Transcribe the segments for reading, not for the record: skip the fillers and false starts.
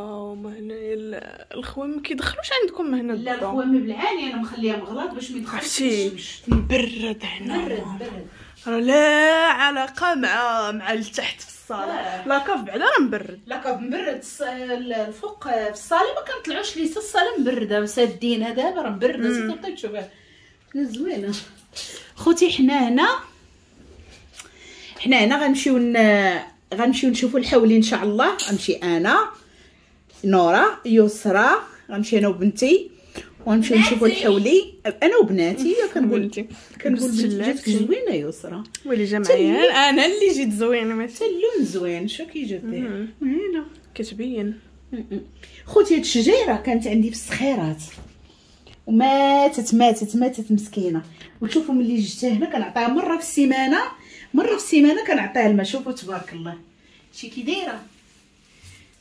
هما هنايا الخوام ما كيدخلوش عندكم هنا؟ لا الخوام بالعاني انا مخليها مغلاط باش ما يدخلش. عرفتي مبرد هنا، مبرد راه لا علاقة مع التحت في الصاله. La cave بعدا راه مبرد، la cave مبرد. الفوق في الصاله ما كنطلعوش ليه، الصاله مبرده سادينها دابا راه مبرده. سيتي تشوفها زوينة. خوتي حنا هنا، حنا هنا غنمشيو نشوفوا الحولي ان شاء الله. غنمشي انا نورا يسرى، غنمشي انا وبنتي ونمشيو نشوفوا الحولي انا وبناتي. كنقول جاتك زوينة يسرى. ويلي جا معايا انا اللي جيت زوينة، ماشي اللون زوين. شو كي جات هنا كتبين. خوتي هاد الشجيره كانت عندي في الصخيرات وماتت ماتت ماتت مسكينه. وشوفوا ملي جبتها هنا كنعطيها مرة في السيمانة، مرة في السيمانة كنعطيها الماء. شوفوا تبارك الله شي كي دايرة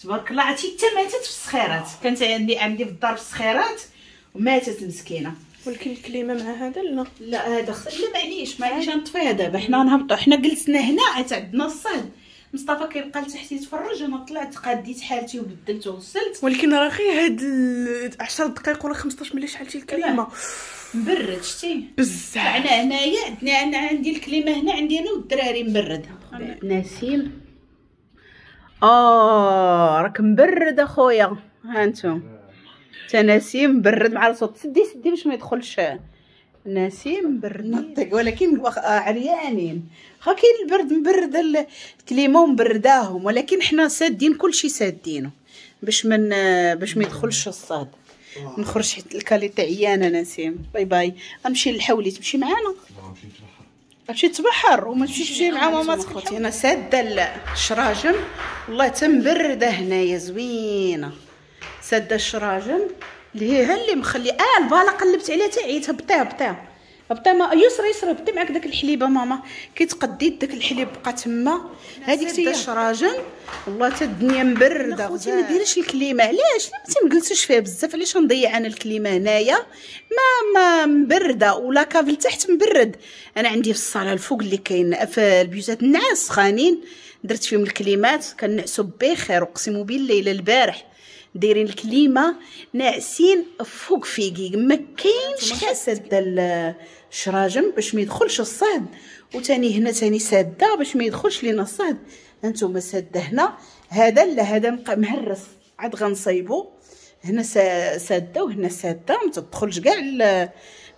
تبارك الله. عرفتي حتى ماتت في الصخيرات، كانت عندي في الدار في الصخيرات وماتت مسكينه. ولكن ال clim مع هذا لا لا هذا لا معليش معليش نطفيها دابا. حنا نهبطوا، حنا جلسنا هنا عاد عندنا الصهد. مصطفى كيبقى لتحت يتفرج، انا طلعت قاديت حالتي وبدلت وغسلت. ولكن راه غير هاد 10 دقائق ولا 15 ملي شحالتي ال clim مبرد. شتي بزاف. طلعنا هنايا عندنا، انا عندي ال clim هنا عندي انا والدراري مبرد. نسيم راك مبرد اخويا. ها انتم تا نسيم مبرد مع الصوت. سدي سدي باش ما يدخلش نسيم مبرد نطق، ولكن عريانين. خا كاين البرد مبرد ال clim ومبرداهم، ولكن حنا سادين كلشي سادينه باش من باش ما يدخلش الصهد. نخرج حيت ال qualité عيانه. نسيم bye bye. غنمشي للحولي، تمشي معانا؟ غتمشي تبحر وما تمشيش تمشي مع ماما خوتي. انا ساده الشراجم والله تمبرده هنايا زوينة. ساده الشراجم اللي هي اللي مخلي الباله قلبت عليها حتى عييت. هبطيها هبطيها هبطي ما يسرى يسرى هبطي معاك داك الحليبه ماما. كي تقديت داك الحليب بقى تما. هذيك هي الشراجم والله حتى الدنيا مبرده. خوتي ما ديريش ال clim. علاش؟ ما تنجلسوش فيها بزاف. علاش نضيع انا ال clim هنايا؟ ما مبرده و la cave لتحت مبرد. انا عندي في الصاله الفوق اللي كاين في البيوتات النعاس سخانين، درت فيهم الكليمات كنعسوا بخير. اقسم بالله الا البارح دايرين ال clim ناعسين فوق فيكي، ما كاينش. ساده الشراجم باش ما يدخلش الصهد، وثاني هنا ثاني ساده باش ما يدخلش لينا الصهد. هانتوما ساده هنا. هذا لا هذا مهرس عاد غنصايبو. هنا ساده وهنا ساده، ما تدخلش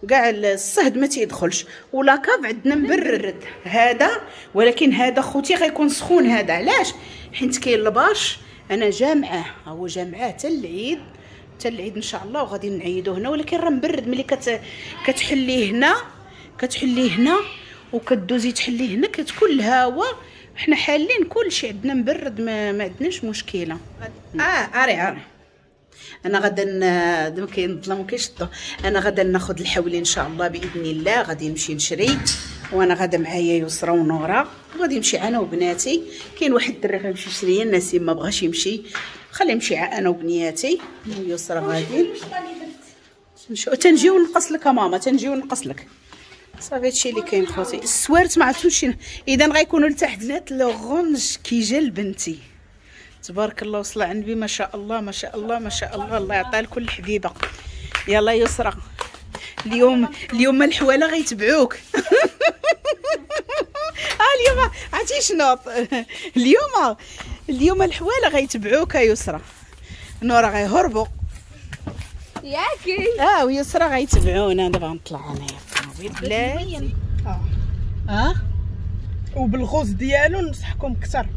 كاع الصهد ما تيدخلش. و la cave عندنا مبرد هذا، ولكن هذا خوتي غيكون سخون هذا. علاش؟ حيت كاين ال bâche. انا جامعه، هو جامعه حتى العيد، حتى العيد ان شاء الله وغادي نعيدو هنا. ولكن راه مبرد ملي كتحليه هنا، كتحليه هنا وكدوزي تحلية هنا كتكون الهواء. حنا حالين كلشي عندنا مبرد، ما عندناش مشكلة. اري اري انا غادا دابا كاين الظلام وكاينش الضو. انا غادا ناخذ الحولي ان شاء الله باذن الله. غادي نمشي نشري وانا غادا معايا يسرى ونورا، وغادي نمشي انا وبناتي. كاين واحد الدري غيمشي يشري، نسيم ما بغاش يمشي، خليه يمشي انا وبنياتي ويسرى غادي تنجيو نقص لك ماما، تنجيو نقص لك. صافي هادشي اللي كاين خوتي. السوارت ما عرفتوش اذا غيكونوا لتحت. بنات l'orange كي جا لبنتي تبارك الله وصل على النبي ما شاء الله ما شاء الله ما شاء الله. الله يعطيها لكل حبيبه. يلا يسرى اليوم الحواله غيتبعوك. اليوم عرفتي شنو؟ اليوم الحواله غيتبعوك يا يسرى. نورا غيهربوا ياكي. ويسرى غيتبعونا. دابا غنطلع انايا في الطوموبيل بلاتي. وبال rose ديالو ننصحكم اكثر.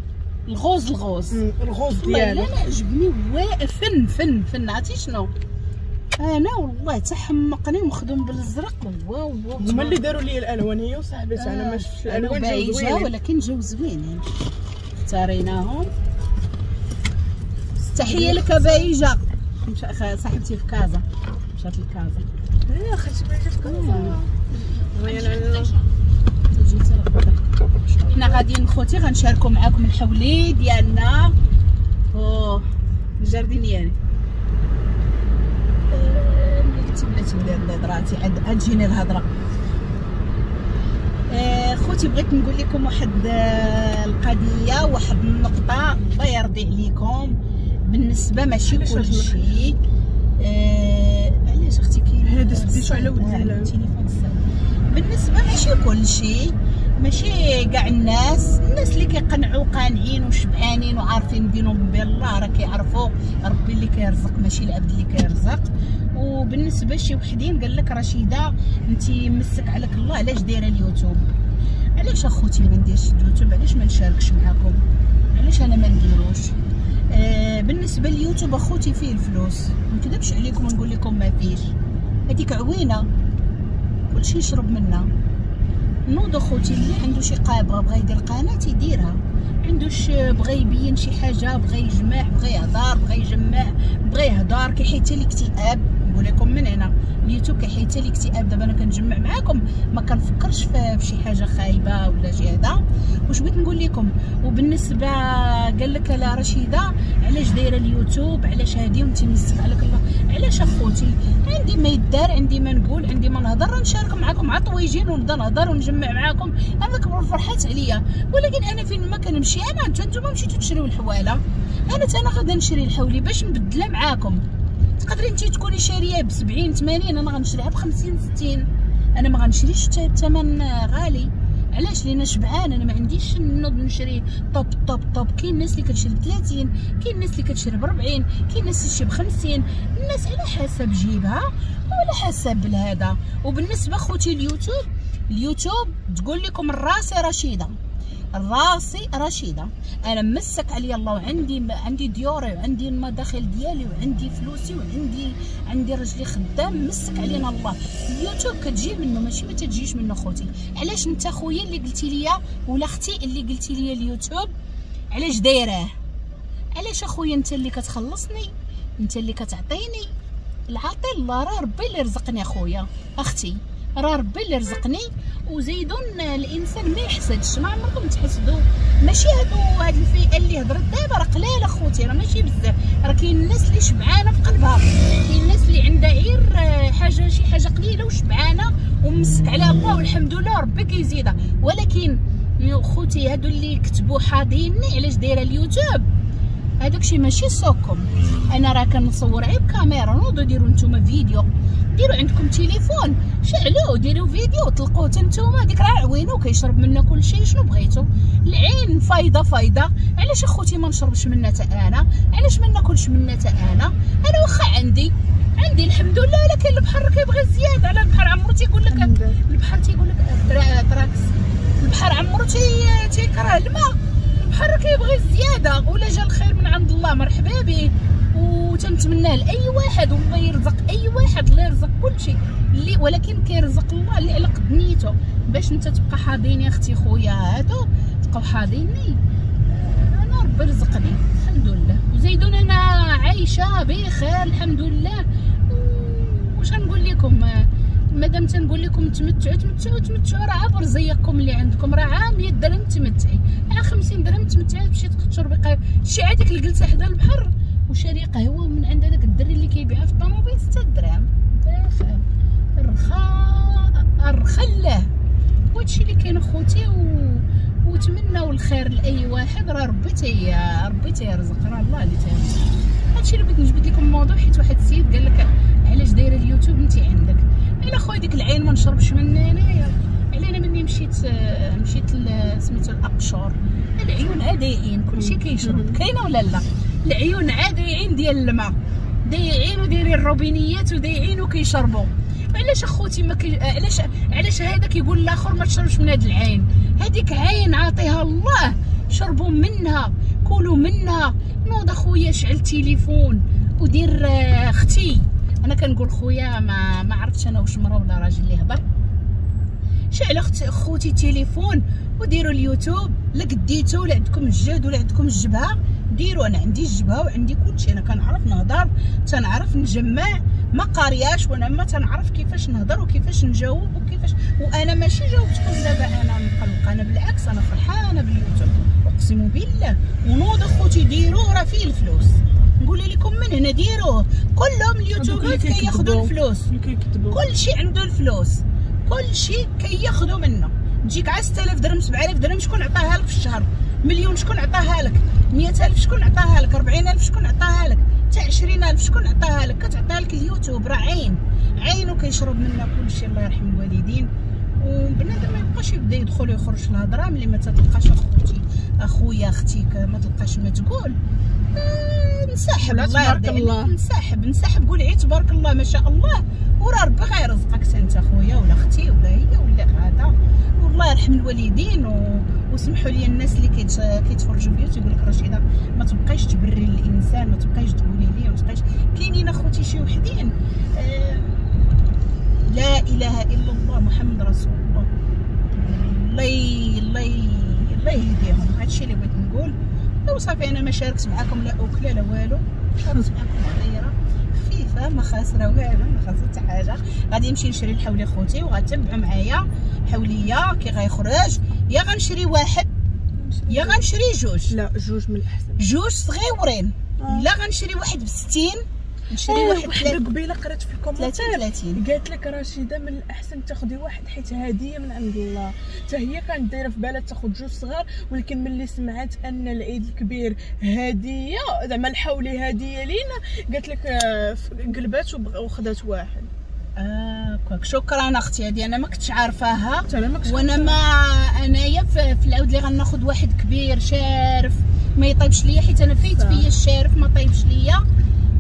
ال rose ال rose ال rose ديالو انا عجبني فن فن فن. عرفتي شنو؟ انا والله تحمقني ومخدوم بالازرق. واو واو هما اللي داروا لي الالوان هي وصاحبتي. انا ما شفتش الالوان جاو زوينين، ولكن جاو زوينين اختاريناهم. تحية لك بايجه صاحبتي في كازا، مشات لكازا. خالتي بايجه في كازا. حنا غاديين خوتي غنشاركوا معاكم الحولي ديالنا او ال jardinière. ملي كنت بلاتي ندير نظراتي عاد تجيني الهضرة. خوتي بغيت نقول لكم واحد القضية، واحد النقطة الله يرضي عليكم. بالنسبة ماشي كلشي. علاش اختي كاين هذا سديتو على ود التليفون الساعة. بالنسبة ماشي كلشي، ماشي كاع الناس، الناس اللي كيقنعوا قانعين وشبعانين وعارفين بينهم وبين الله راه كيعرفوا ربي اللي كيرزق ماشي العبد اللي كيرزق. وبالنسبة شي وحدين قال لك رشيده انت مسك عليك الله علاش دايرة اليوتيوب؟ علاش اخوتي ما نديرش اليوتيوب؟ علاش ما نشاركش معاكم؟ علاش انا ما نديروش؟ بالنسبة لليوتيوب اخوتي فيه الفلوس، ما نكذبش عليكم ونقول لكم ما فيش، هذيك عوينه كلشي يشرب منها. نوض اخوتي اللي عنده شي قابه بغى يدير قناة يديرها، عندوش بغى يبين شي حاجة، بغى يجمع، بغى يهضر، بغى يجمع، بغى يهضر، كيحيد حتى الاكتئاب. نقول لكم من هنا اليوتيوب كيحيد حتى الاكتئاب. دابا انا كنجمع معاكم ما كنفكرش في شي حاجة خايبة ولا شي هذا. واش بغيت نقول لكم؟ وبالنسبة قال لك لا رشيده علاش دايرة اليوتيوب، علاش هادي وانت مسك عليك الله؟ علاش اخوتي؟ عندي ما يدار، عندي ما نقول، عندي ما نهضر، نشارك معاكم مع طويجين ونبدا نهضر ونجمع معاكم، انا كبر فرحات عليا. ولكن انا فين ما كنمشي انا، نتوما مشيتو تشريو الحواله، انا تا انا غادا نشري الحولي باش نبدلها معاكم. تقدري انت تكوني شاريه ب 70 80، انا غنشريها ب 50 60، انا ما غنشريش بثمن غالي. علاش؟ لان شبعان، انا ما عنديش نوض نشري top top top. كاين الناس اللي كتشري ب 30، كاين الناس اللي كتشري ب 40، كاين الناس اللي كتشري ب 50، الناس على حسب جيبها وعلى حسب الهذا. وبالنسبة خوتي اليوتيوب، اليوتيوب تقول لكم راسي رشيده، راسي رشيده، انا مسك عليا الله، وعندي عندي ديوري وعندي المداخل ديالي وعندي فلوسي وعندي عندي رجلي خدام، مسك علينا الله. اليوتيوب كتجي منه ماشي ما تجيش منه خوتي. علاش انت خويا اللي قلتي ليا ولا اختي اللي قلتي ليا اليوتيوب علاش دايراه؟ علاش اخويا انت اللي كتخلصني، انت اللي كتعطيني العاطي الله، راه ربي اللي رزقني اخويا اختي، راه ربي اللي رزقني. وزيدون الانسان ما يحسدش، ما عمركم تحسدوا. ماشي هادو هاد الفئة اللي هضرت دابا راه قلال اخوتي، راه ماشي بزاف، راه كاين الناس اللي شبعانه في قلبها، كاين الناس اللي عندها غير حاجة شي حاجة قليله وشبعانه ومسك على الله والحمد لله ربي كيزيدها. ولكن خوتي هادو اللي كتبوا حاضيني علاش دايرة اليوتيوب، هذاك شي ماشي سوقكم. انا راه كنصور غير بكاميرا، نوضوا ديروا نتوما فيديو، ديروا عندكم تليفون شعلوه ديروا فيديو طلقوه نتوما، ديك راه عوينو كيشرب منا كلشي. شنو بغيتو؟ العين فايضه فايضه. علاش اخوتي ما نشربش منها تا انا؟ علاش ما ناكلش منها تا انا؟ انا واخا عندي الحمد لله، ولكن البحر كيبغي الزيادة على البحر. عمرو تيقول لك البحر تيقول لك تراكس، البحر عمرو تيكره الماء، البحر كيبغي الزيادة. ولا جا الخير من عند الله مرحبا به، وتنتمناه لاي واحد، والله يرزق اي واحد، الله يرزق كلشي اللي، ولكن كيرزق الله اللي على قد نيته. باش انت تبقى حاضيني اختي خويا هادو تبقاو حاضيني، انا ربي رزقني الحمد لله. وزيدون انا عايشه بخير الحمد لله. واش غنقول لكم؟ مادام تنقول لكم تمتعوا تمتعوا تمتعوا، راه عبر زيكم اللي عندكم، راه عا 100 درهم تمتعي، عا 50 درهم تمتعي، تمشي تشربي قهوة. شي عاديك الجلسة حدا البحر وشاري قهوة من عند هذاك الدري اللي كيبيعها في الطوموبيل 6 دراهم، بخير الرخاء الرخله. وهادشي اللي كاين اخوتي، وتمناو الخير لاي واحد، راه ربي ربي تيرزق، راه الله اللي تيرزق. هادشي اللي بغيت نجبد لكم الموضوع، حيت واحد السيد قال لك علاش دايرة اليوتيوب انت عندك؟ على خويا ديك العين ما نشربش منها انايا. على انا مني مشيت سميتو الاقشور، العيون عاديين كلشي كيشرب، كاينه ولا لا؟ العيون عاديين ديال الماء، دايعين ودايرين الروبينيات ودايعين وكيشربوا. علاش اخوتي ما كي... علاش هذا كيقول الاخر ما تشربش من هاد العين؟ هذيك عين عاطيها الله، شربوا منها، كلوا منها. نوض اخويا شعل تليفون ودير اختي، انا كنقول خويا ما عرفتش انا واش مرا ولا راجل اللي هضر. شعل خوتي تليفون وديروا اليوتيوب، لا قديتو ولا عندكم الجهد ولا عندكم الجبهة ديروا. انا عندي الجبهة وعندي كلشي، انا كنعرف نهضر، تنعرف نجمع، ما قارياش وانا ما تنعرف كيفاش نهضر وكيفاش نجاوب وكيفاش. وانا ماشي جاوبتكم دابا انا مقلقة، انا بالعكس انا فرحانة باليوتيوب اقسم بالله. ونوض اخوتي ديروا، راه فيه الفلوس، نقول لكم من هنا ديروه. كلهم اليوتيوبرات كياخذوا الفلوس، كلشي عنده الفلوس، كلشي كياخذوا منه. تجيك على 6000 درهم 7000 درهم، شكون عطاها لك في الشهر؟ مليون شكون عطاها لك، 100,000 شكون عطاها لك، 40,000 شكون عطاها لك، حتى 20,000 شكون عطاها لك. كتعطيها لك اليوتيوب، راه عين عين وكيشرب منها كلشي. الله يرحم الوالدين. وبنادم ما يبقاش يبدا يدخل ويخرج في الهضرة ملي ما تتلقاش اخوتي اخويا اختي ما تلقاش ما تقول. نسحب الله يرضي عليك، نسحب نسحب، قول عي تبارك الله ما شاء الله، وراه ربي غيرزقك انت اخويا ولا اختي ولا هي ولا هذا. والله يرحم الوالدين. وسمحوا لي الناس اللي كيتفرجوا فيا تيقول لك رشيده ما تبقايش تبري للانسان، ما تبقايش تقولي ليه، ما تبقايش. كاينين اخوتي شي وحدين لا اله الا الله محمد رسول الله، الله الله الله يهديهم. هادشي اللي بغيت نقول. وصافي انا ما شاركت معكم لا اكله لا والو، شاركت معكم هضيره خفيفة ما خاسرة والو، ما خاسرة حتى حاجة. غادي نمشي نشري الحولي خوتي وغتبعوا معايا حوليه كي غيخرج. يا غنشري واحد يا غنشري جوج. لا جوج من الاحسن، جوج صغيورين. لا غنشري واحد ب60، نشري واحد. قبيلة قرات في ال commentaire 30. قالت لك رشيده من الاحسن تاخدي واحد حيت هديه من عند الله. حتى هي كانت دايرة في بالها تاخذ جوج صغار، ولكن ملي سمعت ان العيد الكبير هديه زعما الحولي هديه لينا، قالت لك قلبات وخدات واحد. كواك. شكرا اختي، هذه انا ما كنتش عارفاها. وانا ما انايا في العود اللي غناخذ واحد كبير شارف ما يطيبش ليا، حيت انا فايت فيا الشارف ما طيبش ليا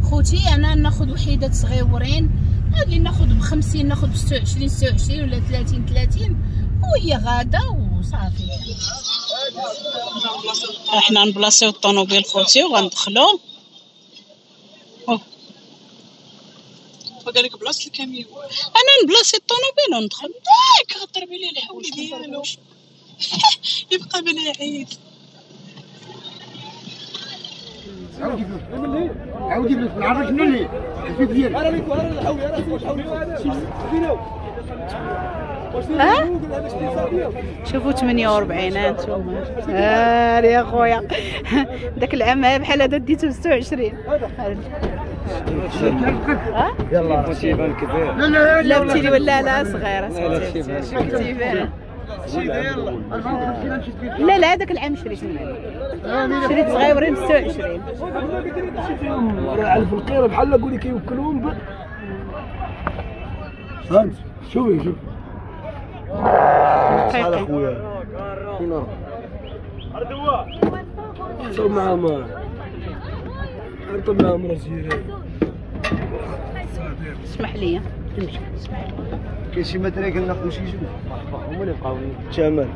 خوتي. انا ناخذ وحيدات صغيورين، اللي ناخذ ب50 ناخذ ب26 26 ولا 30 30 وهي غاده وصافي. احنا نبلاصيو الطوموبيل خوتي وغندخلو. وقال لك بلاصة الكاميو، انا نبلاصي الطوموبيل وندخل. داك غضربي ليه الحولي ديالو يبقى بلا عيد. عاودي نعرفك مني الفيد ديالك. انا ليك انا الحولي، انا الحولي شوفوا 48 انتم. يا خويا داك العام بحال هذا ديتو 26. يلا تيبان كبير. لا لا بتيلي ولا لا صغيرة تيبان. لا لا هذاك العام شريت شريت صغيورين 26. راه على القيره بحال قولي كيوكلوهم. فهمت؟ شوفي شوفي شحال اخويا فين راه معاهم، معاهم راه جيران. اسمح لي كاين شي مثلا كناخذ شي جوج هما اللي بقاو الثمن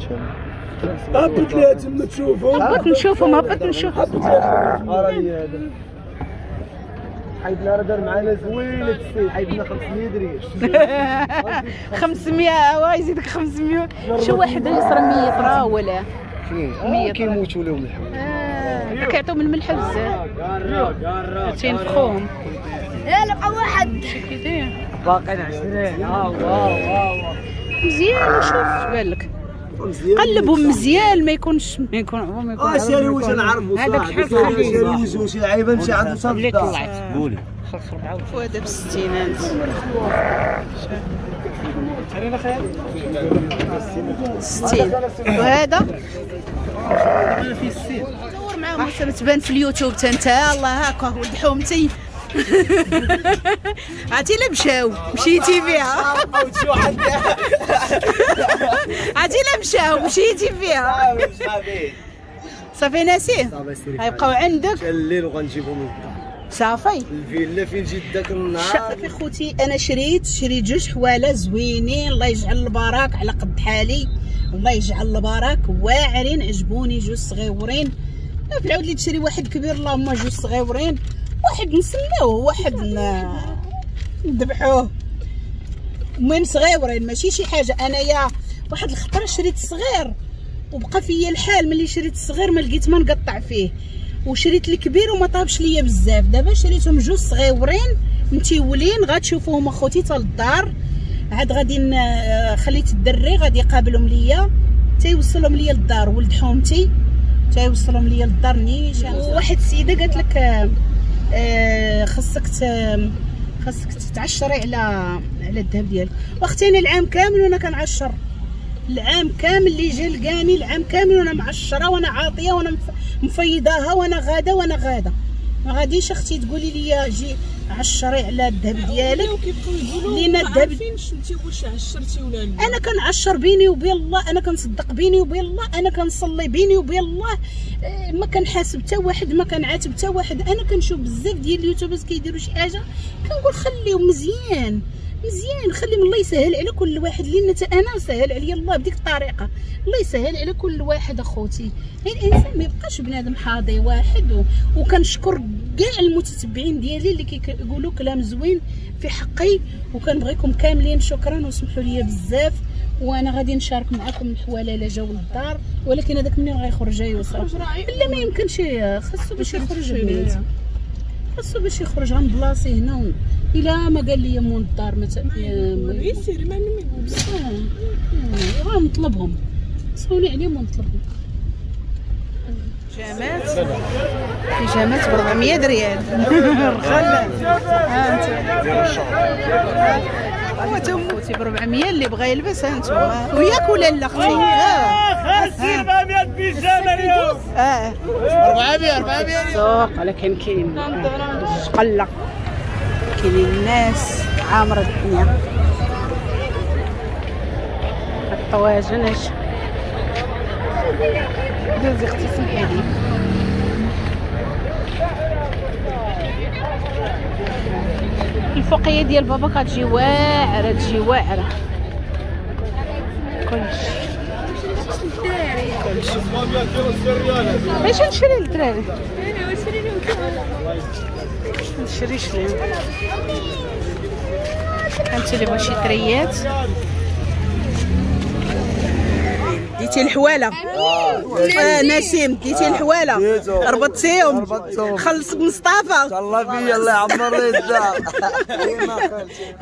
هبط ليها تما تشوفهم. هبط نشوفهم، هبط نشوفهم. راه هذا حيدنا راه دار معانا زوين هاد السيد، حيدنا 500 درهم. 500 وا يزيدك 500. شي واحد يصرى 100 راه ولا فين كيموتوا لهم الحول. كيعطيو من الملح بزاف تينفخوهم. لا بقى واحد باقيين 20. ها واو مزيان. وشوف اش بان لك، قلبهم مزيان ما يكونش ما يكون ما يكون. شاري وجه نعرفو هذاك شحال خفيف شاري وجه شي عيبه مشى عنده صافي اللي طلعت قولي خلص 4 وهذا ب60 60. وهذا صور معاهم تبان في اليوتيوب تا انت. الله هاكا ولد حومتي. عرفتي الا مشاو مشيتي فيها. عرفتي الا مشاو مشيتي فيها. صافي ناسيه غيبقاو عندك الليل وغنجيبهم للدار. صافي الفيلا فين جيت داك النهار. صافي خوتي انا شريت جوج حواله زوينين، الله يجعل البركة على قد حالي، الله يجعل البركة. واعرين عجبوني جوج صغيورين. في العود اللي تشري واحد كبير اللهم جوج صغيورين، واحد نسموه واحد نذبحوه. المهم صغيورين ماشي شي حاجة. انايا واحد الخطرة شريت صغير وبقى فيا الحال، ملي شريت الصغير ما لقيت ما نقطع فيه، وشريت الكبير وما طابش ليا بزاف. دابا شريتهم جوج صغيورين متيولين، غتشوفوهم اخوتي حتى للدار. عاد غادي خليت الدري غادي يقابلهم ليا تيوصلهم ليا للدار، ولد حومتي تيوصلهم ليا للدار نيشان. واحد السيدة قالت لك خصك خصك تتعشري على الذهب ديالك. واختي انا العام كامل وانا كنعشر، العام كامل اللي جا لقاني العام كامل وانا معشره وانا عاطيه وانا مفيضاها وانا غاده وانا غاده. ما غاديش اختي تقولي لي جي عشري على الذهب ديالك، لينا الذهب عارفينش انت واش عشرتي ولا لا. انا كنعشر بيني وبين الله، انا كنصدق بيني وبين الله، انا كنصلي بيني وبين الله، ما كنحاسب حتى واحد، ما كنعاتب حتى واحد. انا كنشوف بزاف ديال اليوتيوبرز كيديروا شي حاجة كنقول خليهم مزيان مزيان، خليهم الله يسهل على كل واحد، لان حتى انا سهل عليا الله بديك الطريقة، الله يسهل على كل واحد اخوتي. غير الانسان ما يبقاش بنادم حاضي واحد. وكنشكر كاع المتتبعين ديالي اللي كيقولوا كلام زوين في حقي، وكنبغيكم كاملين. شكرا وسمحوا لي بزاف، وانا غادي نشارك معكم الحواله لا جاو للدار، ولكن هذاك منين غيخرج يوصل؟ لا ما يمكنش، خاصو باش يخرج بنات، خاصو باش يخرج. غنبلاصي هنا الا ما قال لي مول الدار مثلا يسير ما يقول غنطلبهم، صوني عليهم ونطلبهم. بيجامات بيجامات ب 400 ريال رخال. ها انت خوتي ب 400 اللي بغى يلبس. ها انتم وياك ولا لا اختي؟ 400 بيجامه اليوم. 400 400 السوق، ولكن كاين قلة، كاينين الناس عامرة الدنيا. الطواجن اش دوزي اختي سمحي لي. الفوقية ديال بابا كتجي واعرة، تجي واعرة كلشي كلشي. باش نشري للدراري؟ نشريش ليهم. انت اللي بغا شي تريات. ديتي الحواله نسيم، ديتي الحواله ربطتيهم، خلصك مصطفى الله فيا، الله يعمر لي الدار.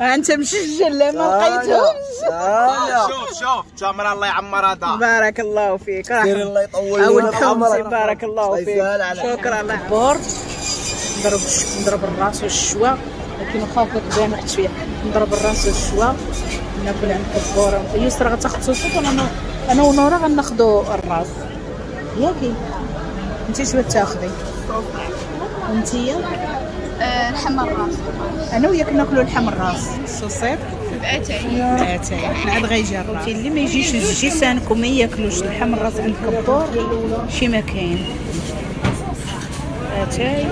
انت مسجل لا ما لقيتهمش. شوف شوف تمره الله يعمرها دار. بارك الله فيك، سير الله يطول لك عمرك. بارك الله فيك، شكرا. الله بور نضرب الراس والشوا، ولكن واخا كتبان واحد شوية. نضرب الراس والشوا ناكل عند الكبوره. يسرا غتاخد صوص، انا ونورا غناخدو الراس. ياكي انت شنو تاخدي؟ انتيا لحم الراس. انا وياك ناكلو لحم الراس الصوصيط باتاي باتاي. حنا عاد غيجي الراس. اللي ما يجيش الجيسانك وما ياكلوش لحم الراس عند الكبور شي ما كاين. اتاي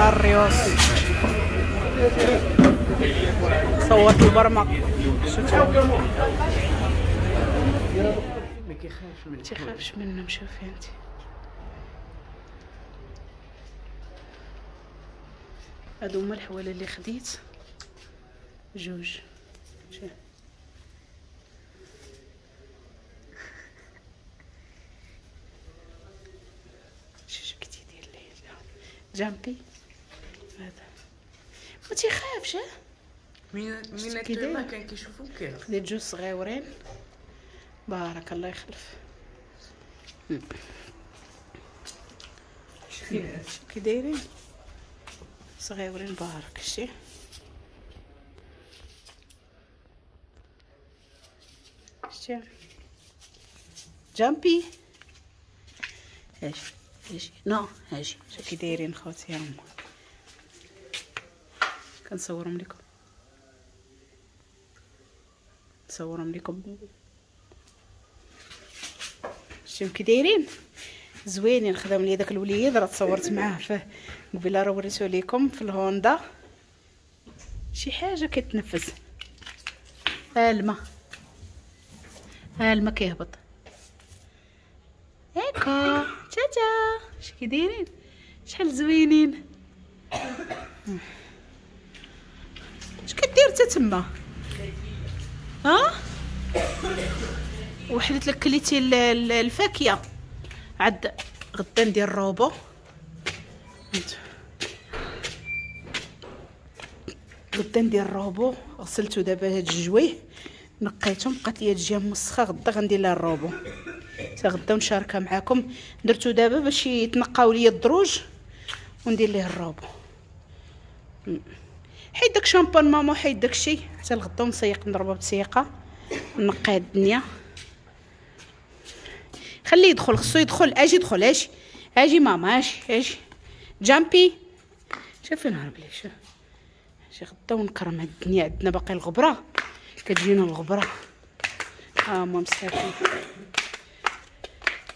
الريوس. صورت البرمة. ما كيخافش منهم، تيخافش منهم. شوفي انت هادو هما الحواله اللي خديت جوج. شوف شوف كي تيدير ليه جامبي هذا ما تيخافش. ها من التما كان كيشوفو كيخاف. خديت جوج صغيورين بارك الله يخلف. كي دايرين صغيورين بارك. شتي شتي جامبي. اجي اجي نو اجي. شوف كي دايرين خوتي، هما كنصورهم لكم، نصورهم لكم. شتيهم كي دايرين زوينين. خدام لي داك الوليد راه تصورت معاه في قبيلة، راه وريتو لكم في الهوندا. شي حاجة كتنفس. ها الماء، ها الماء كيهبط هاكا. تاتا اش كي دايرين، شحال زوينين. اش كدير تا تما؟ ها وحدت لك كليتي الفاكهة. عاد غدا ندير روبو. غدا ندير روبو. غسلتو دابا هاد الجوية نقيتهم، بقات لي الجهة مسخه. غدا غندير لها الروبو حتى غدا ونشاركها معاكم. درتو دابا باش يتنقاو ليا الدروج وندير ليه الروبو. حيد داك شامبان ماما، حيد داك الشيء حتى الغدا ونسيق، نضربها بتسيقه نقي هاد الدنيا. خليه يدخل، خصو يدخل. اجي دخل، اجي اجي ماما، اجي اجي جامبي. شوف فين هرب ليه. شوف شي غدا ونكرم هاد الدنيا. عندنا باقي الغبرة، كتجينا الغبرة. ها هما مساكين.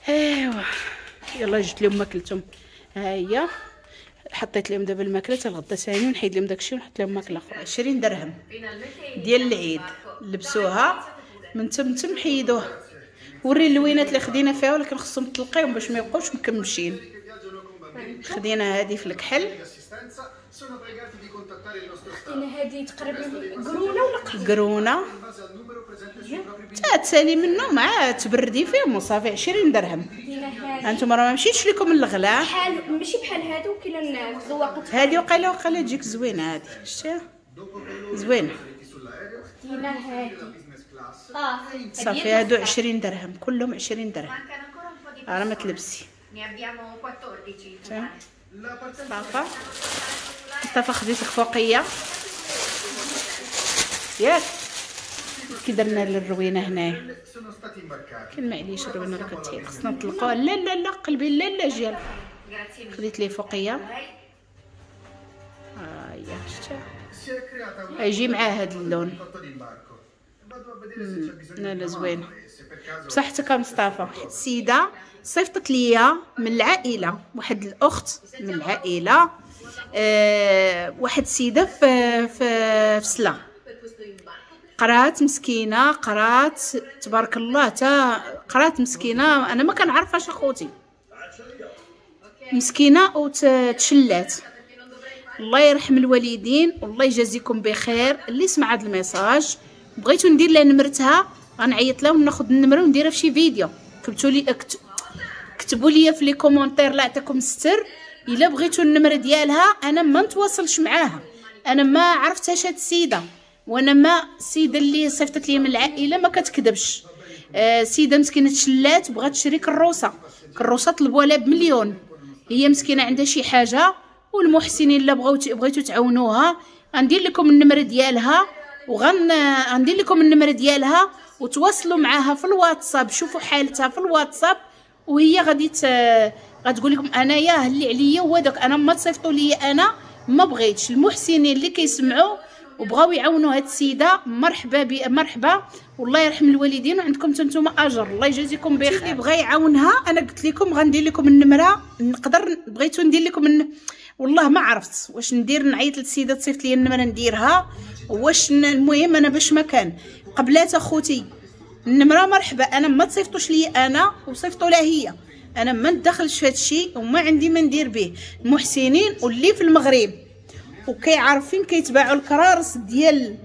ايوا يلا جبت لهم ماكلتهم، ها هي حطيت لهم دابا الماكلة حتى الغدا ثاني، ونحيد لهم داكشي ونحط لهم ماكله اخرى. 20 درهم ديال العيد لبسوها من تم تم حيدوها. وري اللوينات اللي خدينا فيها، ولكن خصهم تلقيهم باش ما يبقاوش مكمشين. خدينا هذه في الكحل، خدينا هذه تقريبا قرونه ولا قهوة قرونه تا تسالي منه مع تبردي فيهم وصافي. 20 درهم. انتم راه ما مشيتش لكم الغلا، بحال ماشي بحال هادو، كاين الزواقات هادي وقيله وقيله تجيك زوينة هادي، شتيها زوينة. خدينا هادي صافي. هادو 20 درهم كلهم 20 درهم. راه ما تلبسي. مصطفى مصطفى خديت لك فوقيه ياك، كي درنا للروينه هنايا. كان معليش الروينه راه كتحيد، خصنا نطلقوها. لا لا لا قلبي، لا لا جيال. خديت ليه فوقيه، ها هي شتيها، يجي معاه هاد اللون. لا لا زوينة بصحتك مصطفى. واحد السيدة صيفطت ليا من العائلة، واحد الاخت من العائلة، واحد السيدة في في سلا، قرات مسكينه، قرات تبارك الله، تا قرات مسكينه، انا ما كنعرفهاش اخوتي، مسكينه وتشلات. الله يرحم الوالدين والله يجازيكم بخير. اللي سمع هذا ال message بغيتو ندير لها نمرتها، غنعيط لها وناخذ النمرة ونديرها في شي فيديو. كتبتوا لي كتبوا لي في les commentaires، لا يعطيكم الستر، الا بغيتو النمرة ديالها انا ما نتواصلش معاها، انا ما عرفتهاش هاد السيدة، وانا ما السيدة اللي صيفطت لي من العائلة ما كتكذبش. سيده مسكينه تشلات بغات تشري كروسه، كروسه طلبوها لها بمليون، هي مسكينه عندها شي حاجة، والمحسنين الا بغيتو تعاونوها غندير لكم النمرة ديالها، وغندير لكم النمرة ديالها وتواصلوا معاها في الواتساب، شوفوا حالتها في الواتساب، وهي غادي غتقول لكم انايا اللي عليا وداك، انا ما تصيفطوا لي، انا ما بغيتش. المحسنين اللي كيسمعوا وبغاو يعاونوا هاد السيدة مرحبا مرحبا، والله يرحم الوالدين، وعندكم نتوما اجر، الله يجازيكم بخير. اللي بغى يعاونها انا قلت لكم غندير لكم النمرة، نقدر بغيتو ندير لكم والله ما عرفت واش ندير، نعيط للسيدة تصيفط لي النمرة نديرها، واش المهم انا باش ما كان قبلات اخوتي النمرة مرحبا، انا ما تصيفطوش لي انا وصيفطوا لها هي، انا ما ندخلش في هادشي وما عندي ما ندير به. المحسنين واللي في المغرب وكيعرفين كيتباعوا الكرارس ديال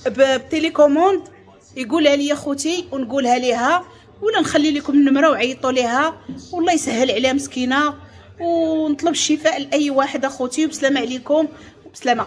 ب télécommande، يقولها لي خوتي ونقولها ليها، ولا نخلي لكم النمرة وعيطوا ليها، والله يسهل عليها مسكينه، ونطلب الشفاء لاي واحد اخوتي. وبسلامه عليكم وبسلامه.